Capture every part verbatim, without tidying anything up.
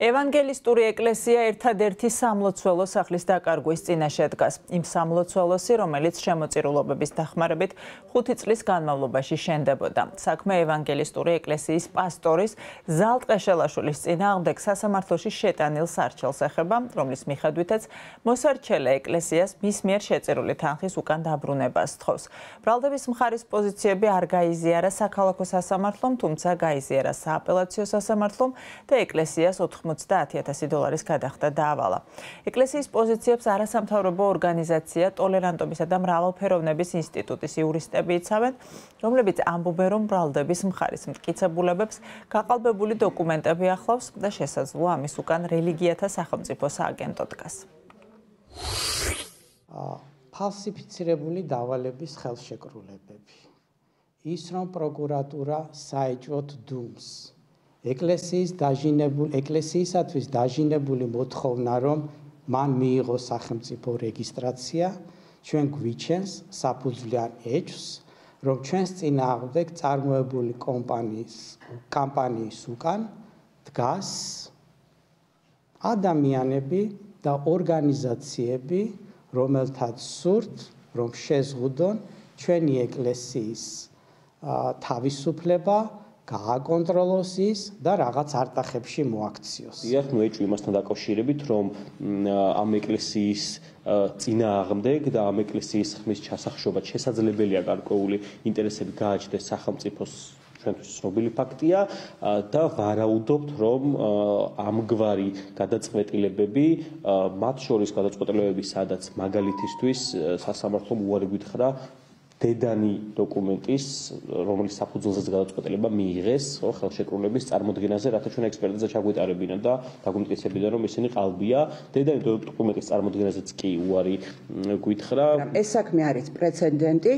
ევანგელისტური ეკლესია ერთადერთი სამლოცველო სახლის დაკარგვის წინაშე დგას. იმ სამლოცველოსი, რომელიც შემოწირულობების დახმარებით ხუთი წლის განმავლობაში შენდებოდა. საქმე ევანგელისტური ეკლესიის პასტორის ზალტყეშელაშვილის წინააღმდეგ სასამართლოში შეტანილ სარჩელს ეხება, რომლის მიხედვითაც მოსარჩელე ეკლესიას მის მიერ შეწირული თანხის უკან დაბრუნება სთხოვს. ბრალდების მხარის პოზიციები არ გაიზიარა საქალაქო სასამართლომ, თუმცა გაიზიარა სააპელაციო სასამართლომ და ეკლესიას ოცდაათი ათასი დოლარის გადახდა დაავალა. ეკლესიის პოზიციებს არასამთავრობო ორგანიზაცია ტოლერანტობისა და მრავალფეროვნების ინსტიტუტის იურისტები იცავენ, რომლებიც ამბობენ, რომ ბრალდების მხარის მტკიცებულებებს გაყალბებული დოკუმენტები ახლავს და შესაძლოა ამის უკან რელიგიათა სახელმწიფო სააგენტო დგას. ფალსიფიცირებული დავალების ხელშეკრულებები. ის რომ პროკურატურა საეჭვოდ დუმს. ეკლესიის დაჟინებული ეკლესიისათვის დაჟინებული მოთხოვნა, რომ მან მიიღოს სახელმწიფო რეგისტრაცია, ჩვენ გვიჩენს საფუძვლიან ეჭვს, რომ ჩვენს წინააღმდეგ წარმოებული კომპანიის კამპანიის უკან დგას ადამიანები და ორგანიზაციები, რომელთაც სურთ, რომ შეზღუდონ ჩვენი ეკლესიის თავისუფლება, გააკონტროლოს ის და რაღაც არტახებში მოაქციოს. იახ ნუ ეჭვი იმასთან დაკავშირებით, რომ ამ ეკლესიის წინააღმდეგ და ამ ეკლესიის ხმის ჩასახშობად შესაძლებელია გარკვეული ინტერესები გააჩნდეს სახელმწიფოს ჩვენთვის ცნობილი ფაქტია და ვარაუდობთ, რომ ამგვარი გადაწყვეტილებები, მათ შორის გადაწყვეტილებები, სადაც მაგალითისთვის სასამართლომ უარი გითხრა დედანი დოკუმენტის, რომლის საფუძველზეც გადაწყვეტილება მიიღეს ხელშეკრულების წარმოდგენაზე, რათა ჩვენ ექსპერტიზა ჩაგვეტარებინა და დაგვიმტკიცებინა, რომ ისინი ყალბია. დედანი დოკუმენტის წარმოდგენაზეც კი უარი გითხრა. ეს საქმე არის პრეცედენტი,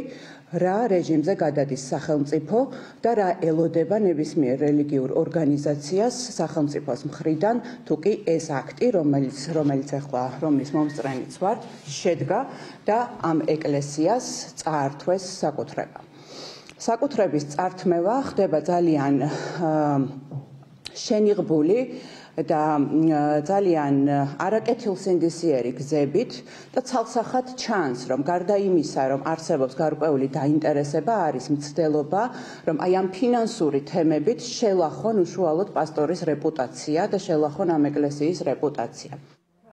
რა რეჟიმზე გადადის სახელმწიფო და რა ელოდება ნებისმიერ რელიგიურ ორგანიზაციას სახელმწიფოს მხრიდან, თუ კი ეს აქტი, რომელიც რომელიც ახლა რომლის მომსწრენიც ვართ, შედგა და ამ ეკლესიას წაართვეს საკუთრება. საკუთრების წართმევა ხდება ძალიან შენიღბული და ძალიან არაკეთილსინდისიერი გზებით და ცალსახად ჩანს, რომ გარდა იმისა, რომ არსებობს გარკვეული დაინტერესება, არის მცდელობა, რომ აი ამ ფინანსური თემებით შელახონ უშუალოდ პასტორის რეპუტაცია და შელახონ ამ ეკლესიის რეპუტაცია.